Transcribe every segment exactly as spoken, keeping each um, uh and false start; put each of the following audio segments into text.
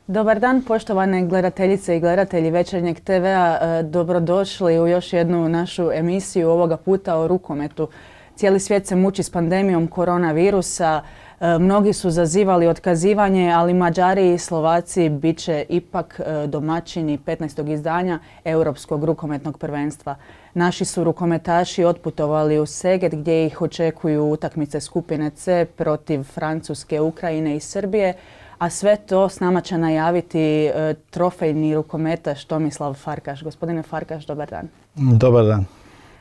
Dobar dan, poštovane gledateljice i gledatelji Večernjeg te vea. Dobrodošli u još jednu našu emisiju, ovoga puta o rukometu. Cijeli svijet se muči s pandemijom koronavirusa. Mnogi su zazivali otkazivanje, ali Mađari i Slovaci bit će ipak domaćini petnaestog izdanja Europskog rukometnog prvenstva. Naši su rukometaši otputovali u Seget gdje ih očekuju utakmice skupine C protiv Francuske, Ukrajine i Srbije. A sve to s nama će najaviti e, trofejni rukometaš Tomislav Farkaš. Gospodine Farkaš, dobar dan. Dobar dan.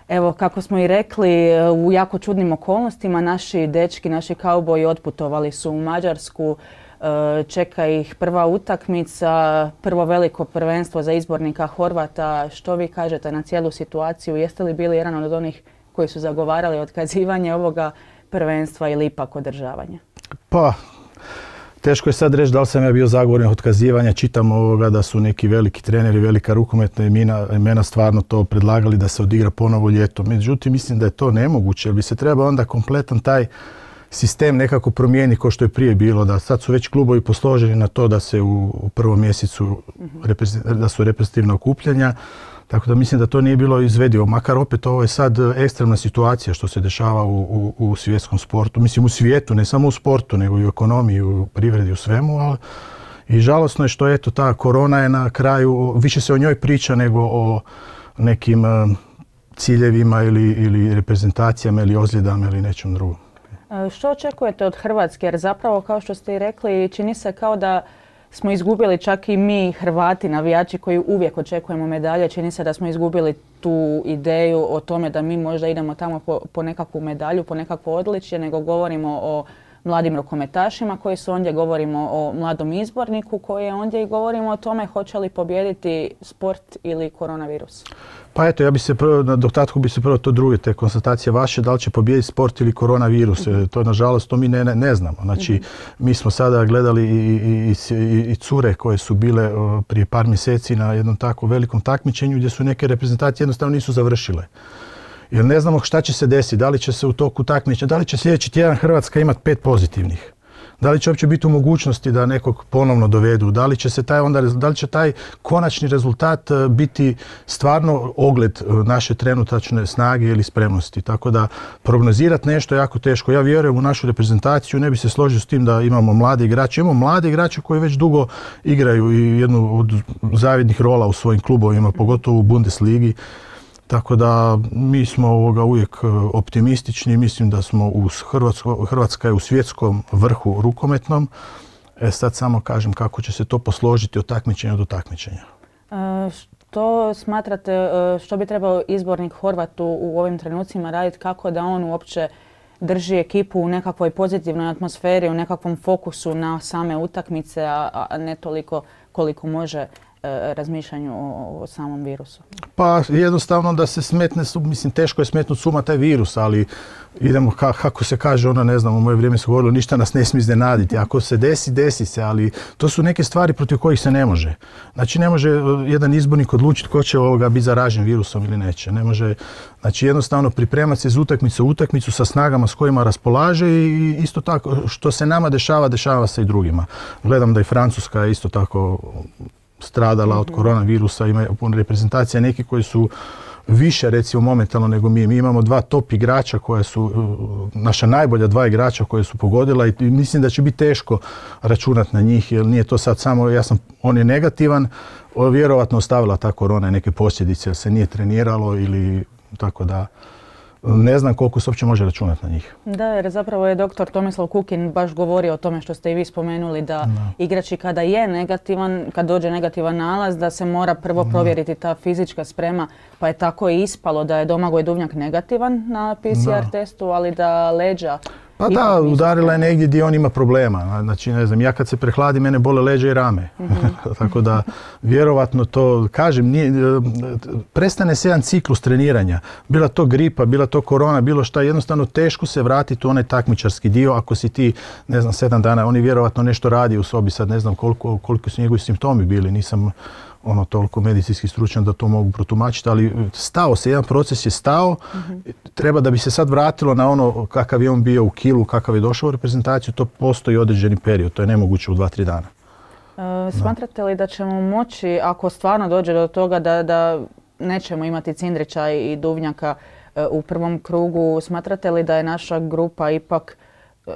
Evo, kako smo i rekli, u jako čudnim okolnostima naši dečki, naši kauboji otputovali su u Mađarsku. E, čeka ih prva utakmica, prvo veliko prvenstvo za izbornika Horvata. Što vi kažete na cijelu situaciju? Jeste li bili jedan od onih koji su zagovarali otkazivanje ovoga prvenstva ili ipak održavanje? Pa... Teško je sad reći da li sam ja bio zagovornik otkazivanja. Čitam ovoga da su neki veliki treneri, velika rukometna imena, imena stvarno to predlagali da se odigra ponovo ljeto. Međutim, mislim da je to nemoguće jer bi se trebao onda kompletan taj sistem nekako promijeni kao što je prije bilo. Da sad su već klubovi posloženi na to da se u, u prvom mjesecu da su reprezentativna okupljanja. Tako da mislim da to nije bilo izvedivo. Makar opet ovo je sad ekstremna situacija što se dešava u, u, u svjetskom sportu. Mislim u svijetu, ne samo u sportu, nego i u ekonomiji, u privredi, u svemu. Ali i žalosno je što eto ta korona je na kraju, više se o njoj priča nego o nekim uh, ciljevima ili, ili reprezentacijama ili ozljedama ili nečem drugom. Što očekujete od Hrvatske? Jer zapravo, kao što ste i rekli, čini se kao da smo izgubili, čak i mi Hrvati, navijači koji uvijek očekujemo medalje, čini se da smo izgubili tu ideju o tome da mi možda idemo tamo po, po nekakvu medalju, po nekakvo odličje, nego govorimo o mladim rukometašima koji su ondje, govorimo o mladom izborniku koji je ondje i govorimo o tome hoće li pobijediti sport ili koronavirus. Pa eto, ja bi se prvo, na dodatku bi se prvo to druge, te konstatacije vaše, da li će pobijediti sport ili koronavirus. Mm-hmm. To nažalost to mi ne, ne, ne znamo. Znači, mm-hmm. mi smo sada gledali i, i, i, i cure koje su bile o, prije par mjeseci na jednom tako velikom takmičenju gdje su neke reprezentacije jednostavno nisu završile. Jer ne znamo šta će se desiti, da li će se u toku takmičenja, da li će sljedeći tjedan Hrvatska imati pet pozitivnih. Da li će uopće biti u mogućnosti da nekog ponovno dovedu, da li će se taj onda, da li će taj konačni rezultat biti stvarno ogled naše trenutačne snage ili spremnosti. Tako da prognozirati nešto je jako teško. Ja vjerujem u našu reprezentaciju, ne bi se složio s tim da imamo mlade igrače. Imamo mlade igrače koji već dugo igraju i jednu od zavidnih rola u svojim klubovima, pogotovo u Bundesligi. Tako da mi smo ovoga uvijek optimistični, mislim da smo u Hrvatsko, Hrvatska je u svjetskom vrhu rukometnom. E sad samo kažem kako će se to posložiti od takmičenja do takmičenja. E, što smatrate, što bi trebao izbornik Horvatu u ovim trenucima raditi, kako da on uopće drži ekipu u nekakvoj pozitivnoj atmosferi, u nekakvom fokusu na same utakmice, a, a ne toliko koliko može razmišljanju o, o samom virusu? Pa jednostavno da se smetne, mislim teško je smetnuti suma taj virus, ali idemo ka, kako se kaže, ona ne znam, u moje vrijeme se govorilo ništa nas ne smije iznenaditi. Ako se desi, desi se, ali to su neke stvari protiv kojih se ne može. Znači ne može jedan izbornik odlučiti ko će ovoga biti zaražen virusom ili neće. Ne može, znači jednostavno pripremati se iz utakmice u utakmicu sa snagama s kojima raspolaže i isto tako što se nama dešava, dešava se i drugima. Gledam da i Francuska je isto tako stradala od koronavirusa, ima reprezentacija neki koji su više recimo momentalno nego mi. Mi imamo dva top igrača koja su, naša najbolja dva igrača koje su pogodila i mislim da će biti teško računati na njih jer nije to sad samo, ja sam, on je negativan, vjerovatno ostavila ta korona neke posljedice jer se nije treniralo ili tako da ne znam koliko se uopće može računati na njih. Da, jer zapravo je doktor Tomislav Kukin baš govorio o tome što ste i vi spomenuli da no. igrači kada je negativan, kad dođe negativan nalaz, da se mora prvo no. provjeriti ta fizička sprema, pa je tako i ispalo da je Domagoj Duvnjak negativan na P C R no. testu, ali da leđa... Pa da, udarila je negdje gdje on ima problema. Znači, ne znam, ja kad se prehladi, mene bole leđa i rame. Mm-hmm. Tako da, vjerovatno to, kažem, nije, prestane se jedan ciklus treniranja. Bila to gripa, bila to korona, bilo šta, jednostavno teško se vratiti u onaj takmičarski dio. Ako si ti, ne znam, sedam dana, oni vjerovatno nešto radi u sobi, sad ne znam koliko, koliko su njegovi simptomi bili, nisam ono toliko medicinski stručan da to mogu protumačiti, ali stao se, jedan proces je stao, mm-hmm. treba da bi se sad vratilo na ono kakav je on bio u kilu, kakav je došao u reprezentaciju, to postoji određeni period, to je nemoguće u dva, tri dana. Smatrate li da ćemo moći, ako stvarno dođe do toga da, da nećemo imati Cindrića i Duvnjaka u prvom krugu, smatrate li da je naša grupa ipak e,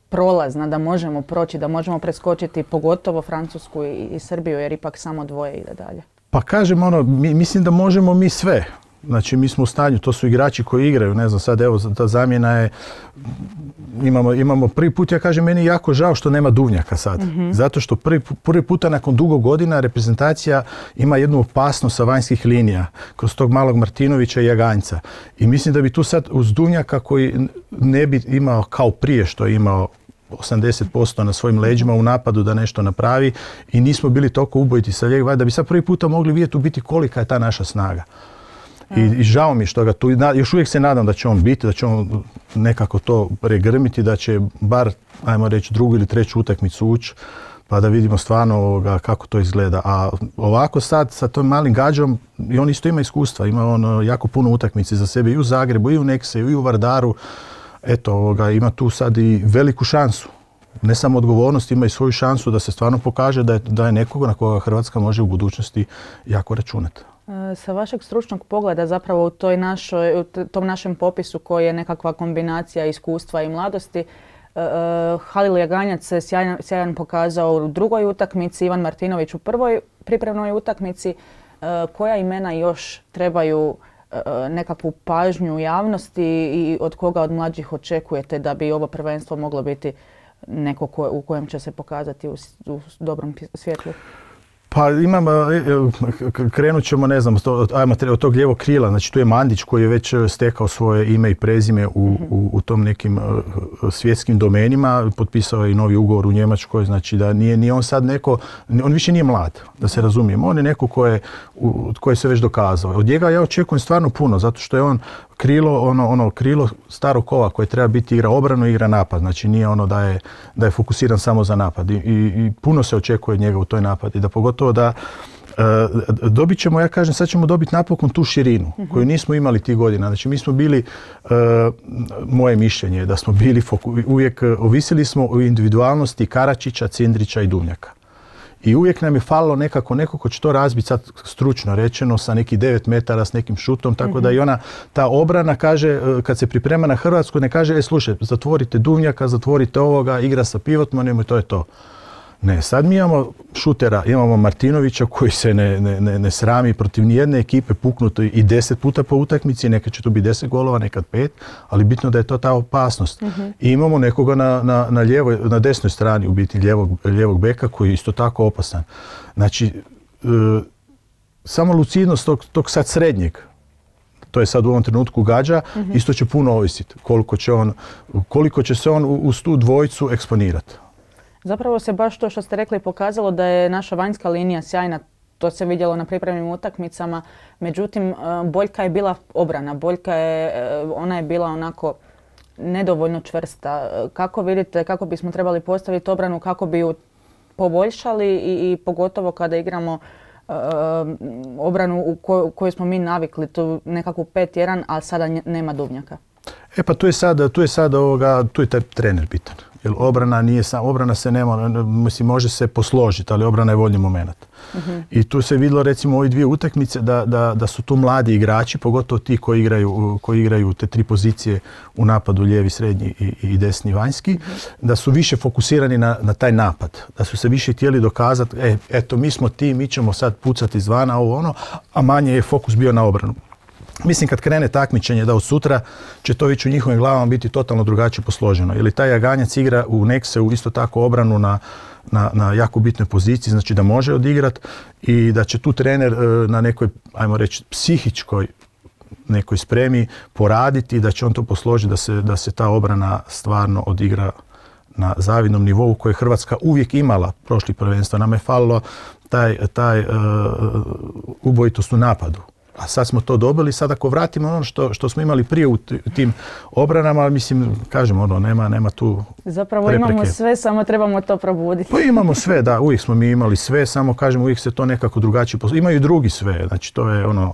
prolazna, da možemo proći, da možemo preskočiti pogotovo Francusku i, i Srbiju, jer ipak samo dvoje ide dalje? Pa kažem ono, mi, mislim da možemo mi sve. Znači mi smo u stanju, to su igrači koji igraju, ne znam sad evo ta zamjena je, imamo, imamo prvi put, ja kažem meni je jako žao što nema Duvnjaka sad. Mm-hmm. Zato što prvi, prvi puta nakon dugo godina reprezentacija ima jednu opasnost sa vanjskih linija kroz tog malog Martinovića i Jaganjca. I mislim da bi tu sad uz Duvnjaka koji ne bi imao kao prije što je imao osamdeset posto na svojim leđima u napadu da nešto napravi i nismo bili toliko ubojiti sa lijeva, da bi sad prvi puta mogli vidjeti u biti kolika je ta naša snaga. I, I žao mi što ga tu, još uvijek se nadam da će on biti, da će on nekako to pregrmiti, da će bar, ajmo reći, drugu ili treću utakmicu ući, pa da vidimo stvarno ovoga, kako to izgleda. A ovako sad, sa tom malim gađom, i on isto ima iskustva, ima on jako puno utakmice za sebe i u Zagrebu, i u Nekseju, i u Vardaru. Eto, ovoga, ima tu sad i veliku šansu. Ne samo odgovornost, ima i svoju šansu da se stvarno pokaže da je, da je nekoga na koga Hrvatska može u budućnosti jako računati. Sa vašeg stručnog pogleda zapravo u toj našoj, u tom našem popisu koji je nekakva kombinacija iskustva i mladosti, uh, Halil Jaganjac se sjajan, sjajan pokazao u drugoj utakmici, Ivan Martinović u prvoj pripremnoj utakmici. Uh, koja imena još trebaju uh, nekakvu pažnju javnosti i od koga od mlađih očekujete da bi ovo prvenstvo moglo biti neko ko, u kojem će se pokazati u, u dobrom svjetlu? Pa imam, krenut ćemo, ne znam, od tog lijevog krila, znači tu je Mandić koji je već stekao svoje ime i prezime u, u, u tom nekim svjetskim domenima, potpisao je i novi ugovor u Njemačkoj, znači da nije, nije on sad neko, on više nije mlad, da se razumijemo, on je neko koje, koje se već dokazao. Od njega ja očekujem stvarno puno, zato što je on krilo, ono, ono krilo starog kova koje treba biti igra obranu i igra napad, znači nije ono da je, da je fokusiran samo za napad i, i, i puno se očekuje od njega u toj napad i da pogotovo da e, dobit ćemo, ja kažem, sad ćemo dobiti napokon tu širinu mm-hmm. koju nismo imali tih godina. Znači mi smo bili, e, moje mišljenje je da smo bili, foku, uvijek ovisili smo o individualnosti Karačića, Cindrića i Duvnjaka. I uvijek nam je falilo nekako, neko ko će to razbiti sad stručno rečeno sa nekih devet metara s nekim šutom, tako mm-hmm. da i ona, ta obrana kaže, kad se priprema na Hrvatsku, ne kaže, e slušaj, zatvorite Duvnjaka, zatvorite ovoga, igra sa pivotmanom i to je to. Ne, sad mi imamo šutera, imamo Martinovića koji se ne, ne, ne, ne srami protiv nijedne ekipe puknuti i deset puta po utakmici, nekad će to biti deset golova, nekad pet, ali bitno da je to ta opasnost. Mm-hmm. I imamo nekoga na, na, na, lijevoj, na desnoj strani u biti lijevog, lijevog beka koji je isto tako opasan. Znači, e, samo lucidnost tog, tog sad srednjeg, to je sad u ovom trenutku gađa, mm-hmm. isto će puno ovisiti koliko će, on, koliko će se on uz tu dvojicu eksponirati. Zapravo se baš to što ste rekli pokazalo da je naša vanjska linija sjajna, to se vidjelo na pripremnim utakmicama, međutim boljka je bila obrana, boljka je, ona je bila onako nedovoljno čvrsta. Kako vidite, kako bismo trebali postaviti obranu, kako bi ju poboljšali i, i pogotovo kada igramo uh, obranu u koj, kojoj smo mi navikli, tu nekakvu pet jedan, a sada nema Duvnjaka? E pa tu je sad, tu je sad ovoga, tu je taj trener bitan. Jer obrana nije sam, obrana se nema, mislim, može se posložiti, ali obrana je voljni moment. Uh-huh. I tu se vidjelo recimo u ove dvije utakmice da, da, da su tu mladi igrači, pogotovo ti koji igraju, koji igraju te tri pozicije u napadu, lijevi, srednji i, i desni vanjski, uh-huh. da su više fokusirani na, na taj napad, da su se više htjeli dokazati, e, eto mi smo ti, mi ćemo sad pucati izvana, ovo ono, a manje je fokus bio na obranu. Mislim kad krene takmičenje da od sutra će to već u njihovim glavama biti totalno drugačije posloženo. Jer taj Jaganjac igra u Nekseu isto tako obranu na, na, na jako bitnoj poziciji, znači da može odigrati i da će tu trener na nekoj, ajmo reći, psihičkoj nekoj spremi poraditi i da će on to posložiti da se, da se ta obrana stvarno odigra na zavidnom nivou koje je Hrvatska uvijek imala prošlih prvenstva. Nam je falilo taj, taj uh, ubojitost u napadu. A sad smo to dobili, sad ako vratimo ono što, što smo imali prije u tim obranama, mislim, kažem, ono, nema, nema tu Zapravo prepreke. Imamo sve, samo trebamo to probuditi. Pa imamo sve, da, uvijek smo mi imali sve, samo kažem, uvijek se to nekako drugačije poslu. Imaju i drugi sve, znači to je ono,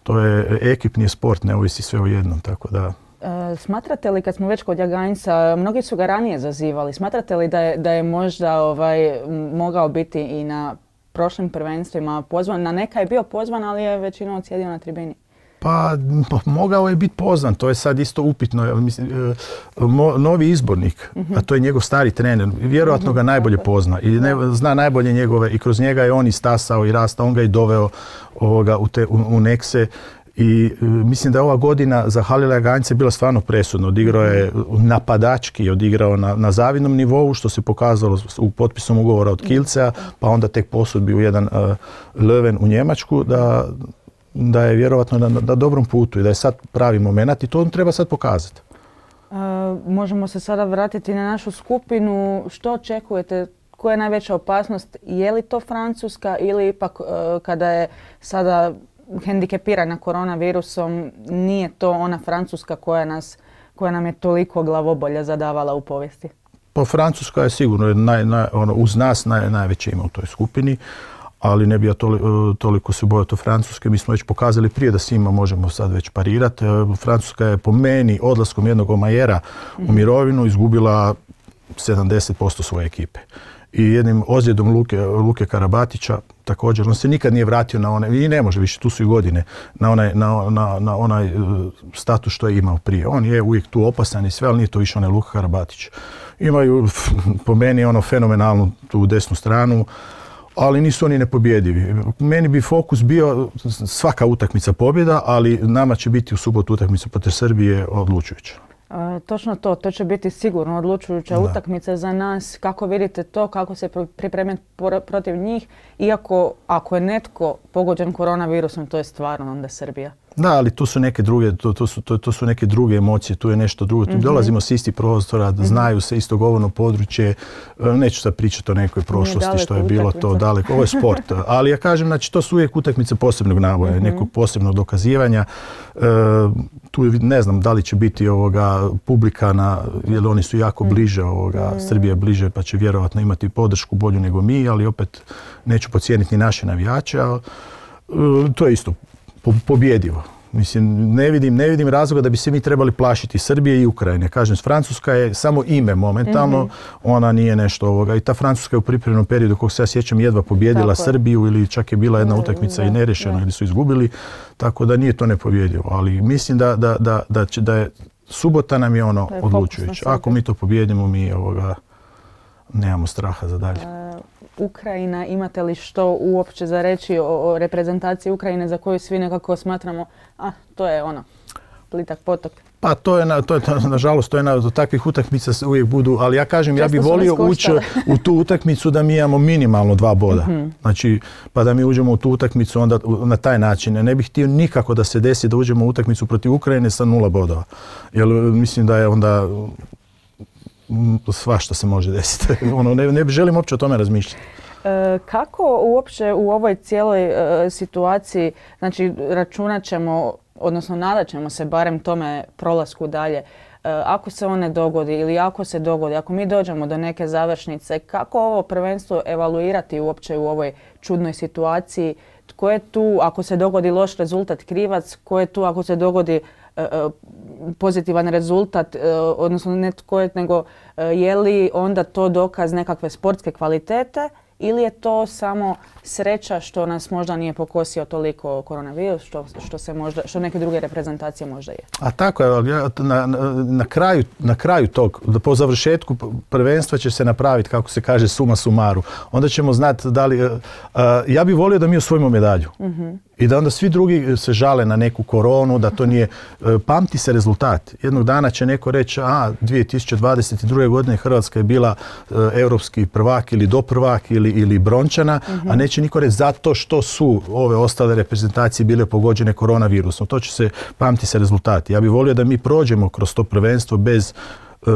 to je ekipni sport, ne ovisi sve o jednom, tako da... E, smatrate li, kad smo već kod Jaganjca, mnogi su ga ranije zazivali, smatrate li da je, da je možda ovaj, mogao biti i na prošlim prvenstvima pozvan? Na neka je bio pozvan, ali je većinom sjedio na tribini. Pa mogao je biti pozvan, to je sad isto upitno. Mislim, mo, novi izbornik, uh-huh. a to je njegov stari trener, vjerojatno ga najbolje pozna i ne, zna najbolje njegove i kroz njega je on istasao i rastao, on ga i doveo ovoga, u, te, u, u Nekse. I e, mislim da je ova godina za Halila Jaganjca bila stvarno presudna. Odigrao je napadački, odigrao na, na zavidnom nivou, što se pokazalo u potpisom ugovora od Kielcea, pa onda tek posudbi u jedan uh, Löwen u Njemačku, da, da je vjerovatno na, na dobrom putu i da je sad pravi moment i to on treba sad pokazati. Uh, možemo se sada vratiti na našu skupinu. Što očekujete? Koja je najveća opasnost? Je li to Francuska ili ipak uh, kada je sada hendikepirana koronavirusom, nije to ona Francuska koja, nas, koja nam je toliko glavobolja zadavala u povijesti? Pa Francuska je sigurno naj, naj, ono, uz nas naj, najveće ima u toj skupini, ali ne bi ja toli, toliko se bojao to Francuske. Mi smo već pokazali prije da s njima možemo sad već parirati. Francuska je po meni odlaskom jednog Omajera u mirovinu izgubila sedamdeset posto svoje ekipe. I jednim ozljedom Luke, Luke Karabatića također, on se nikad nije vratio na onaj, i ne može više, tu su i godine, na onaj, na, na, na onaj status što je imao prije. On je uvijek tu opasan i sve, ali nije to više onaj Luka Karabatić. Imaju po meni ono fenomenalnu tu desnu stranu, ali nisu oni nepobjedivi. Meni bi fokus bio svaka utakmica pobjeda, ali nama će biti u subotu utakmica protiv Srbije odlučujuća. E, točno to, to će biti sigurno odlučujuća da. utakmica za nas. Kako vidite to, kako se pripremiti protiv njih, iako ako je netko pogođen koronavirusom, to je stvarno onda Srbija. Da, ali tu su neke druge, to, to, su, to, to su neke druge emocije, tu je nešto drugo. Mm-hmm. Dolazimo s istih prostora, mm-hmm. znaju se isto govorno područje. Neću sad pričati o nekoj prošlosti što je bilo to daleko. Ovo je sport. Ali ja kažem, znači, to su uvijek utakmice posebnog naboja, mm-hmm. nekog posebnog dokazivanja. E, tu ne znam da li će biti ovoga publika, na, jer oni su jako bliže, ovoga, mm-hmm. Srbija je bliže, pa će vjerovatno imati podršku bolju nego mi, ali opet neću podcijeniti ni naše navijače. Ali, e, to je isto pobjedivo. Mislim, ne vidim, ne vidim razloga da bi se mi trebali plašiti Srbije i Ukrajine. Kažem, Francuska je samo ime momentalno, mm-hmm. ona nije nešto ovoga. I ta Francuska je u pripremnom periodu, kog se ja sjećam, jedva pobjedila tako Srbiju ili čak je bila jedna utakmica i nerešena ili su izgubili, tako da nije to nepobjedivo. Ali mislim da, da, da, da, će, da je subota nam je ono je odlučujuće. Ako mi to pobjedimo, mi ovoga nemamo straha za dalje. Uh, Ukrajina, imate li što uopće za reći o, o reprezentaciji Ukrajine za koju svi nekako smatramo, a to je ono, plitak potok? Pa to je, na, to je nažalost, to je na, do takvih utakmica uvijek budu, ali ja kažem, često ja bih volio ući u tu utakmicu da mi imamo minimalno dva boda. Mm-hmm. Znači, pa da mi uđemo u tu utakmicu onda na taj način. Ne bih htio nikako da se desi da uđemo u utakmicu protiv Ukrajine sa nula bodova. Jer mislim da je onda svašta se može desiti. Ono, ne, ne želim uopće o tome razmišljati. E, kako uopće u ovoj cijeloj e, situaciji, znači računat ćemo, odnosno nadat ćemo se barem tome prolasku dalje, e, ako se on ne dogodi ili ako se dogodi, ako mi dođemo do neke završnice, kako ovo prvenstvo evaluirati uopće u ovoj čudnoj situaciji? Tko je tu ako se dogodi loš rezultat krivac, tko je tu ako se dogodi pozitivan rezultat, odnosno ne tko je, nego je li onda to dokaz nekakve sportske kvalitete ili je to samo sreća što nas možda nije pokosio toliko koronavirus, što, što, se možda, što neke druge reprezentacije možda je. A tako je, na, na, na, kraju, na kraju tog, po završetku prvenstva će se napraviti, kako se kaže, suma sumaru. Onda ćemo znati da li... Uh, ja bih volio da mi osvojimo medalju. Mm-hmm. I da onda svi drugi se žale na neku koronu, da to nije... Pamti se rezultat. Jednog dana će neko reći, a dvije tisuće dvadeset druge. godine Hrvatska je bila uh, europski prvak ili doprvak ili, ili brončana, mm-hmm. a neće niko reći zato što su ove ostale reprezentacije bile pogođene koronavirusom. To će se, pamti se rezultati. Ja bih volio da mi prođemo kroz to prvenstvo bez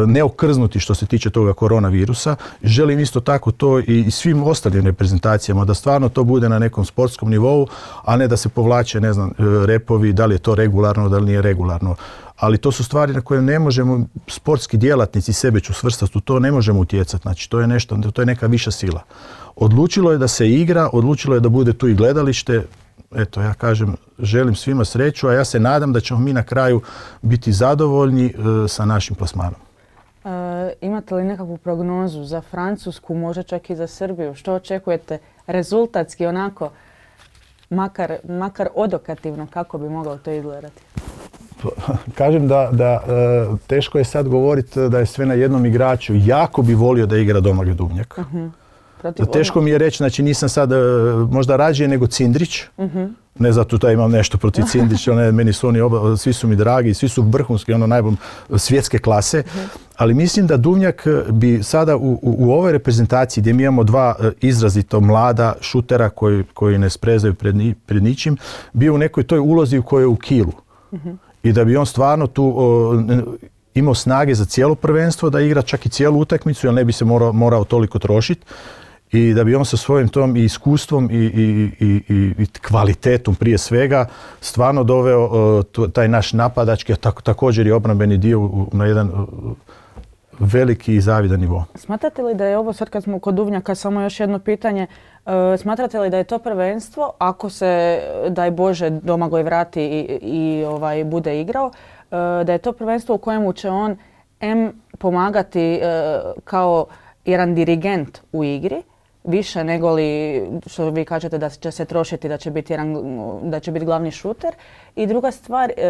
neokrznuti što se tiče toga koronavirusa. Želim isto tako to i svim ostalim reprezentacijama, da stvarno to bude na nekom sportskom nivou, a ne da se povlače, ne znam, repovi, da li je to regularno, da li nije regularno. Ali to su stvari na koje ne možemo, sportski djelatnici, sebe ću svrstati u to, ne možemo utjecati. Znači, to je nešto, to je neka viša sila. Odlučilo je da se igra, odlučilo je da bude tu i gledalište. eto, ja kažem, želim svima sreću, a ja se nadam da ćemo mi na kraju biti zadovoljni e, sa našim plasmanom. E, imate li nekakvu prognozu za Francusku, možda čak i za Srbiju? Što očekujete rezultatski onako, makar, makar odokativno, kako bi moglo to izgledati? Kažem da, da e, teško je sad govoriti da je sve na jednom igraču. Jako bi volio da igra Domagoj Duvnjak. Uh-huh. Teško mi je reći, znači nisam sad možda rađe nego Cindrić. Uh-huh. Ne zato da imam nešto protiv Cindrića, ne, meni su oni oba, svi su mi dragi, svi su vrhunski, ono najbolj svjetske klase. Uh-huh. Ali mislim da Duvnjak bi sada u, u, u ovoj reprezentaciji gdje mi imamo dva izrazito mlada šutera koji, koji ne sprezaju pred, ni, pred ničim, bio u nekoj toj ulozi u kojoj je u kilu. Uh-huh. I da bi on stvarno tu o, imao snage za cijelo prvenstvo, da igra čak i cijelu utakmicu, jer ne bi se morao, morao toliko trošiti. I da bi on sa svojim tom i iskustvom i, i, i, i kvalitetom prije svega stvarno doveo o, to, taj naš napadački, a tak, također i obrambeni dio u, na jedan o, veliki i zavidan nivo. Smatrate li da je ovo, sad kad smo kod Duvnjaka, samo još jedno pitanje, uh, smatrate li da je to prvenstvo, ako se, daj Bože, Domagoj vrati i, i ovaj, bude igrao, uh, da je to prvenstvo u kojemu će on em pomagati uh, kao jedan dirigent u igri, više nego li što vi kažete da će se trošiti, da će biti, jedan, da će biti glavni šuter. I druga stvar, uh,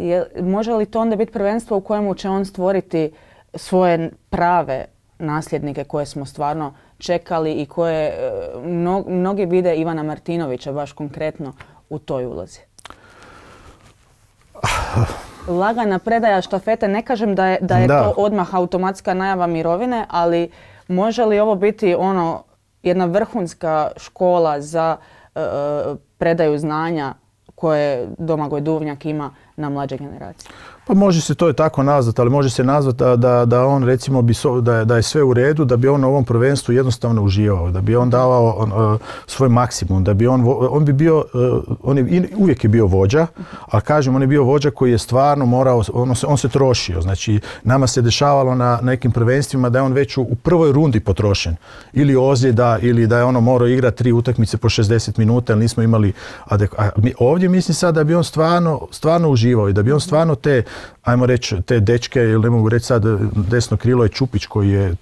je, može li to onda biti prvenstvo u kojemu će on stvoriti svoje prave nasljednike koje smo stvarno čekali i koje mno, mnogi vide Ivana Martinovića baš konkretno u toj ulozi? Lagana predaja štafete, ne kažem da je, da je da. to odmah automatska najava mirovine, ali može li ovo biti ono jedna vrhunska škola za uh, predaju znanja koje Domagoj Duvnjak ima na mlađe generacije? Pa može se to i tako nazvati, ali može se nazvati da, da, da on recimo bi so, da, je, da je sve u redu, da bi on na ovom prvenstvu jednostavno uživao, da bi on davao on, uh, svoj maksimum, da bi on, on bi bio, uh, on je, uvijek je bio vođa, a kažem, on je bio vođa koji je stvarno morao, on se, on se trošio. Znači, nama se dešavalo na nekim prvenstvima da je on već u, u prvoj rundi potrošen. Ili ozljeda, ili da je ono morao igrati tri utakmice po šezdeset minuta, ali nismo imali adek... A mi, ovdje mislim sad da bi on stvarno, stvarno uživao i da bi on stvarno te, ajmo reći, te dečke, ili ne mogu reći sad, desno krilo je Čupić koji je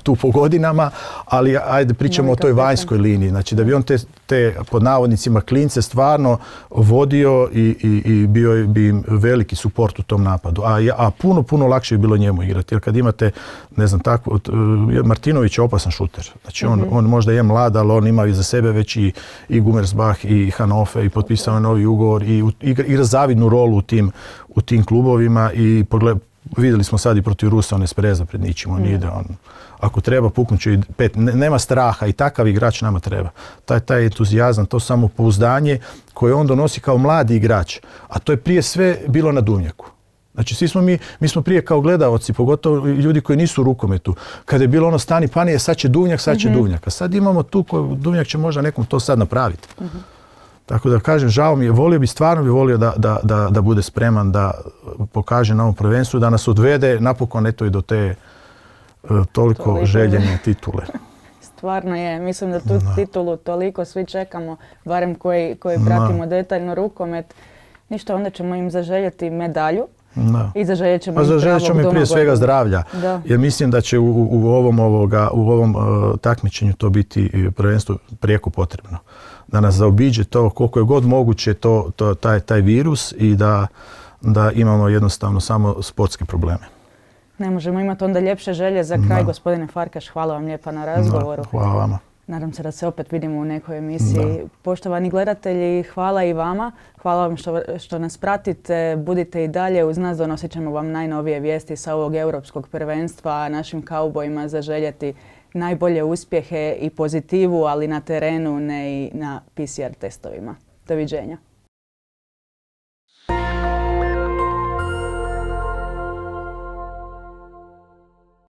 tu po godinama, ali ajde pričamo o toj vanjskoj liniji. Znači da bi on te, te pod navodnicima klince stvarno vodio i, i, i bio bi im veliki suport u tom napadu. A, a puno, puno lakše je bilo njemu igrati. Jer kad imate, ne znam, tako, Martinović je opasan šuter. Znači on, mm-hmm. on možda je mlad, ali on ima iza sebe već i, i Gummersbach i Hannover i potpisao je novi ugovor i igra, igra zavidnu rolu u tim, u tim klubovima i pogled, vidjeli smo sad i protiv Rusa, on ne spreza pred ničim, on mm. ide, on, ako treba puknut će i pet, ne, nema straha i takav igrač nama treba. Taj, taj entuzijazam, to samopouzdanje koje on donosi kao mladi igrač, a to je prije sve bilo na Duvnjaku. Znači svi smo mi, mi smo prije kao gledaoci, pogotovo ljudi koji nisu u rukometu, kada je bilo ono stani panije, sad će Duvnjak, sad će mm-hmm. Duvnjak, a sad imamo tu koju Duvnjak će možda nekom to sad napraviti. Mm-hmm. Tako da kažem, žao mi je, volio bi, stvarno bi volio da, da, da, da bude spreman, da pokaže na ovom prvenstvu, da nas odvede napokon eto i do te uh, toliko toliko željene titule. Stvarno je, mislim da tu no. titulu toliko svi čekamo, barem koji, koji pratimo no. detaljno rukomet. Ništa, onda ćemo im zaželjeti medalju. Da. I zaželjet ćemo, zaželjet ćemo im prije svega zdravlja, da. Jer mislim da će u, u ovom, ovoga, u ovom uh, takmičenju to biti prvenstvo prijeko potrebno. Da nas zaobiđe to koliko je god moguće to, to, taj, taj virus i da, da imamo jednostavno samo sportske probleme. Ne možemo imati onda ljepše želje za kraj. Da. Gospodine Farkaš, hvala vam lijepa na razgovoru. Da, hvala vama. Nadam se da se opet vidimo u nekoj emisiji. Da. Poštovani gledatelji, hvala i vama. Hvala vam što, što nas pratite. Budite i dalje uz nas, donosit ćemo vam najnovije vijesti sa ovog europskog prvenstva, a našim kaubojima zaželjeti najbolje uspjehe i pozitivu, ali na terenu, ne i na P C R testovima. Doviđenja.